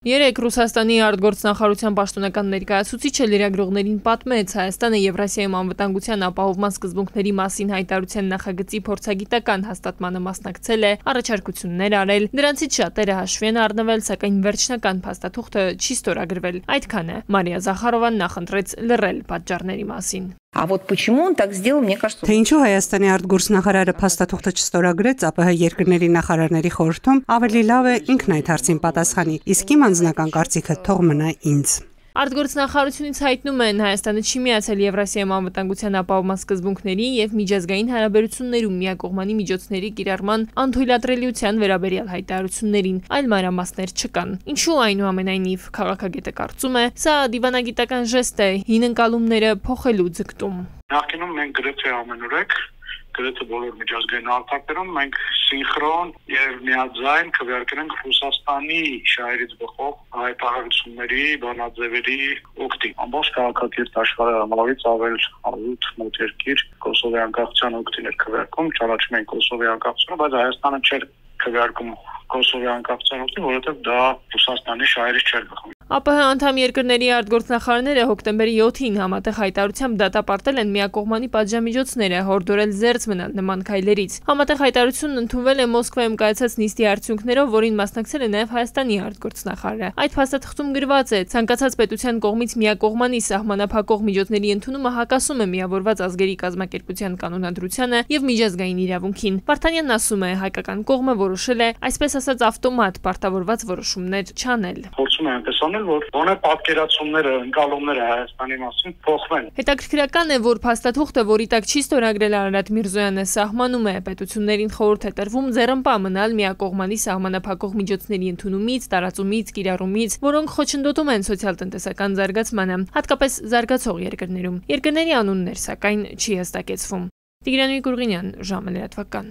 Երեկ Ռուսաստանի արտգործնախարարության պաշտոնական ներկայացուցիչը լրագրողներին պատմեց Հայաստանը Եվրասիայում անվտանգության ապահովման սկզբունքների մասին հայտարարության նախագծի փորձագիտական հաստատմանը մասնակցել է, առաջարկություններ արել, դրանցից շատերը հաշվի են առնվել, սակայն վերջնական փաստաթուղթը չի ստորագրվել։ Այդքանը Մարիա Զախարովան նախընտրեց լռել պատճառների մասին։ А вот почему он так сделал, мне кажется... Թե ինչու Հայաստանի արտգործնախարարը փաստաթուղթը չստորագրեց ԱՊՀ երկրների նախարարների խորհրդում, ավելի լավ է ինքն այդ հարցին պատասխանի, իսկ իմ անձնական կարծիքը թող մնա ինձ։ Արտգործնախարարությունից հայտնում են Հայաստանը չի միացել Եվրասիայում անվտանգության ապահովման սկզբունքների եւ միջազգային հարաբերություններում միակողմանի միջոցների կիրառման անթույլատրելիության վերաբերյալ հայտարարություններին, այլ մանրամասներ չկան։ Ինչու այնուամենայնիվ քաղաքագետը կարծում է, սա դիվանագիտական ժեստ է, հին ընկալումները փոխելու ձգտում։ Նախկինում մենք գրեթե ամենուրեք գրեթե բոլոր միջազգային արտակերում մենք սինխրոն եւ միաձայն քվեարկենք Ռուսաստանի շահերից բխող հայտարարությունների, բանաձևերի օգտի։ Ամբողջ քաղաքակիրթ աշխարհի համարից ավել 8 մոտ երկիր Կոսովի անկախության օգտին էր քվեարկում, ճանաչում են Կոսովի անկախությունը, բայց Հայաստանը չէր քվեարկում Կոսովի անկախության օգտին, որովհետեւ դա Ռուսաստանի շահերից չէր բխում։ ԱՊՀ անդամ երկրների արտգործնախարարները հոկտեմբերի 7-ին համատեղ հայտարարությամբ դատապարտել են միակողմանի պատժամիջոցները, հորդորել զերծ մնալ նման քայլերից։ Համատեղ հայտարարությունն ընդունվել է Մոսկվայում կայացած նիստի արդյունքներով, որին մասնակցել է նաև Հայաստանի արտգործնախարարը։ Այդ փաստաթղթում գրված է. ցանկացած պետության կողմից միակողմանի սահմանափակող միջոցների ընդունումը հակասում է միավորված ազգերի կազմակերպության կանոնադրությանը եւ միջազգային իրավունքին։ Վարդանյանն ասում է, հայկական կողմը որոշել է, այսպես ասած, ավտոմատ պարտավորված որոշումներ չանել։ Փորձում են տեսնել, որ բանը պատկերացումները, ընկալումները Հայաստանի մասին փոխվեն։ Հետաքրքրական է, որ փաստաթուղթը, որի տակ չի ստորագրել Արարատ Միրզոյանը, սահմանում է պետություններին խորհուրդ է տրվում ձեռնպա մնալ միակողմանի սահմանափակող միջոցների ընդունումից, տարածումից, կիրառումից, որոնք խոչընդոտում են սոցիալ-տնտեսական զարգացմանը, հատկապես զարգացող երկրներում։ Երկրների անուններ, սակայն, չի հստակեցվում։ Տիգրան Գուրգենյան, ժամը լրատվական։